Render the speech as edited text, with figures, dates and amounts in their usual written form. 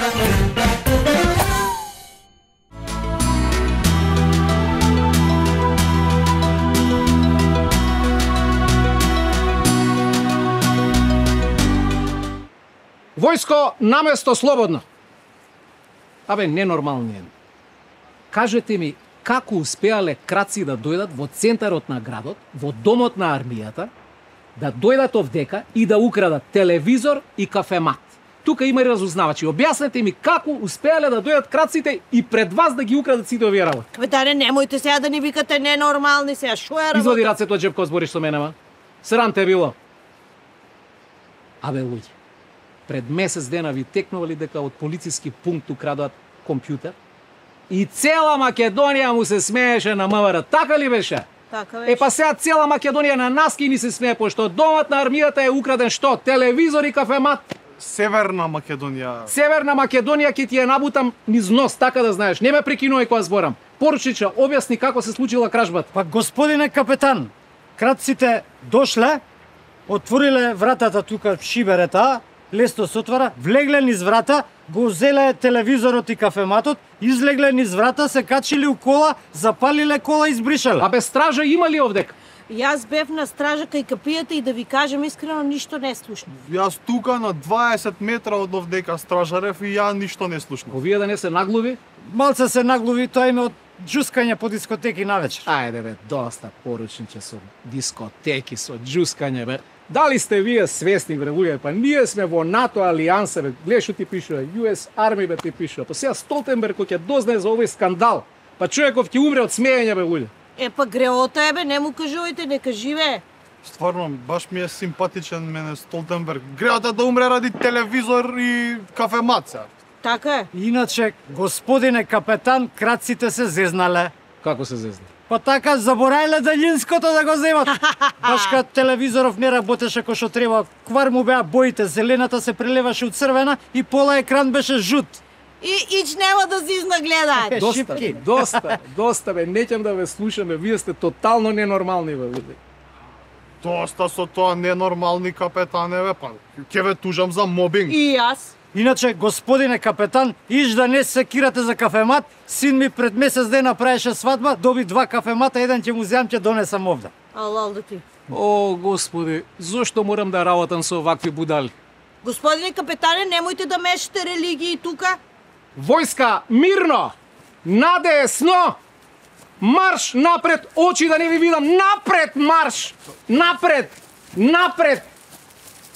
Војско наместо слободно. Абе, ненормални е. Кажете ми, како успеале крадци да дојдат во центарот на градот, во домот на армијата, да дојдат овдека и да украдат телевизор и кафемат. Тука има и разузнавачи. Објаснете ми како успеале да дојдат крадците и пред вас да ги украдат сите овие работи. Капетане, немојте сега да ни викате ненормални сега. Шо е работа? Извади рацете од џепко, збориш со мене, ма. Срам те било. Абе, луѓе, пред месец дена ви текнували дека од полициски пункт украдат компјутер и цела Македонија му се смееше на МВР. Така ли беше? Така беше. Па сега цела Македонија на нас ки ни се смее, пошто домот на армијата е украден што? Телевизор и кафемат. Северна Македонија. Северна Македонија ќе ти ја набутам низ нос, така да знаеш. Не ме прекинувај кога зборам. Поручиче, објасни како се случила кражбата. Па господине капетан, крадците дошле, отвориле вратата тука шиберета, лесно се отвара, влегле низ врата, го зеле телевизорот и кафематот, излегле низ врата, се качили у кола, запалиле кола и избришале. Абе, стража има ли овдека? Јас бев на стража кај капијата и да ви кажам искрено, ништо не слушнав. Јас тука на 20 метра од овдека стражарев и ја ништо не слушнав. Овие да не се наглуви? Малце се наглуви, тоа име од џускање по дискотеки навечер. Ајде бе, доста поручниче со дискотеки, со џускање бе. Дали сте вие свесни бре луѓе? Па ние сме во НАТО алијанса бе. Гледаш што ти пишува, US Army бе ти пишува. Па сега Столтенберг кој ќе дознае за овој скандал, па човеков ќе умре од смеење бе луѓе. Па греота е бе, не му кажувајте, нека живее. Стварно, баш ми е симпатичен мене Столтенберг. Греата да умре ради телевизор и кафемат сега. Така е. Иначе, господине капетан, крадците се зезнале. Како се зезна? Па така, заборајле далинското да го земат. Баш кад телевизоров не работеше кој што треба, квар му беа боите, зелената се прелеваше у црвена и пола екран беше жут. И ич нема да зизна гледаат. Доста бе, неќам да ве слушаме, вие сте тотално ненормални бе луѓе. Доста со тоа ненормални капетане бе, па ќе ве тужам за мобинг. И јас. Иначе, господине капетан, иш да не се секирате за кафемат, син ми пред месец ден направеше свадба, доби 2 кафемата, еден ќе му земам, ќе донесам овде. Алал да ти. О, господи, зошто морам да работам со овакви будали? Господине капетане, немојте да мешате религии тука. Војска, мирно! Надесно! Марш напред, очи да не ви видам! Напред марш! Напред! Напред!